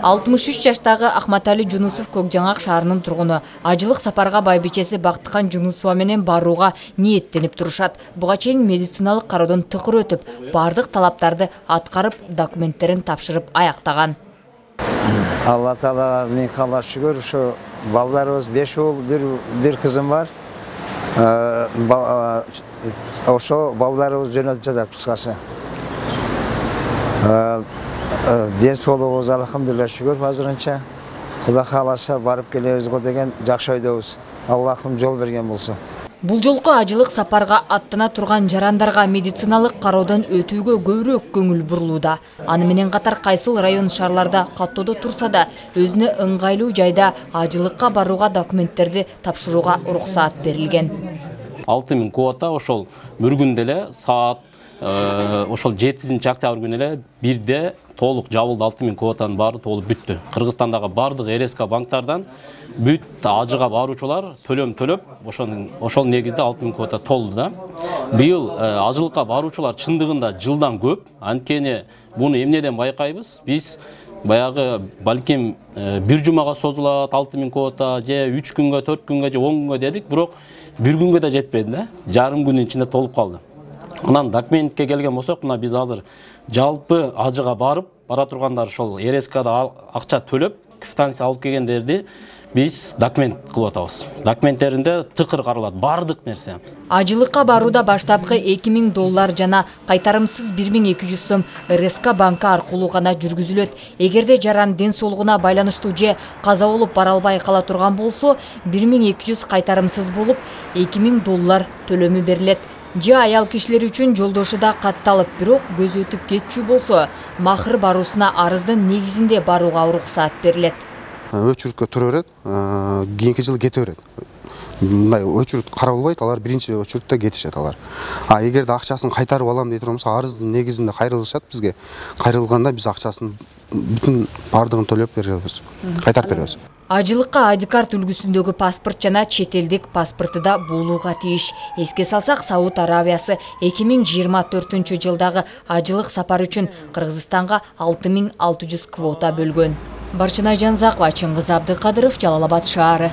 63 жаштагы Ахматали Жунусов Көкжаңак шаарынын тургуну. Ажылык сапарга байбичеси Бактыкан Жунусова менен барууга ниеттенип турушат. Буга чейин медициналык кароодон тыкыр өтүп, бардык талаптарды аткарып, документтерин тапшырып аяктаган. Алла Таалага миң калла шүгүр, ушу балдарыбыз 5 уул, бир кызым бар. Ошо балдарыбыз жөнөтүп жатат кыскасы. Ден соолугубуз алхамдулилла шүгүр азырынча. Кудай кааласа барып келебиз го деген жакшы ойдобуз. Аллахым жол берген болсун. Бул жолку ажылык сапарга аттана турган жарандарга медициналык кароодон өтүүгө көбүрөөк көңүл бурулууда. Аны менен катар кайсыл район шаарларда каттоодо турса да, өзүнө ыңгайлуу жайда ажылыкка барууга документтерди тапшырууга уруксаат берилген. 6000 квота ошол бир күндө эле саат ошол 7-октябрь күнү эле бирде толук жабылды. 6000 квотанын баары толуп бүттү. Кыргызстандагы бардык РСК банктардан бүт ажыга баруучулар төлөм төлөп, ошол негизде 6000 квота толду да. Быйыл ажылыкка баруучулар чындыгында жылдан көп. Анткени буну эмнеден байкайбыз? Биз баягы балким бир жумага созулат 6000 квота, же 3 күнгө, 4 күнгө, же 10 күнгө дедик, бирок бир күнгө да жетпеди да. Жарым күнүн ичинде толуп калды. Анан документке келген болсок, мына биз азыр жалпы ажыга бара тургандар ошол РСКда акча төлөп, квитанция алып келгендерди биз документ кылып атабыз. Документтеринде тыкыр каралат бардык нерсе. Ажылыкка барууда баштапкы $2000 жана кайтарымсыз 1200 сом РСК банкы аркылуу гана жүргүзүлөт. Эгерде жаран ден соолугуна байланыштуу же каза болуп бара албай кала турган болсо, 1200 кайтарымсыз болуп, $2000 төлөмү берилет. Же аял кишилер үчүн жолдошу да катталып, бирок көз өтүп кетчү болсо, махыр баруусуна арыздын негизинде барууга уруксаат берилет. Өчүрүткө тура берет, кийинки жылы кете берет. Мындай өчүрүт каралбайт, алар биринчи өчүрүттө кетишет алар. Эгерде акчасын кайтарып алам дей турганбыз, арыздын негизинде кайрылышат бизге. Кайрылганда биз акчасын бүтүн бардыгын төлөп беребиз, кайтарып беребиз. Ажылыкка ID-карт үлгүсүндөгү паспорт жана чет элдик паспорты да болууга тийиш. Эске салсак, Сауд Арабиясы 2024 жылдагы ажылык сапар үчүн Кыргызстанга 6600 квота бөлгөн. Барчынай Жанзакова, Чыңгыз Абдыкадыров, Жалал Абад шаары.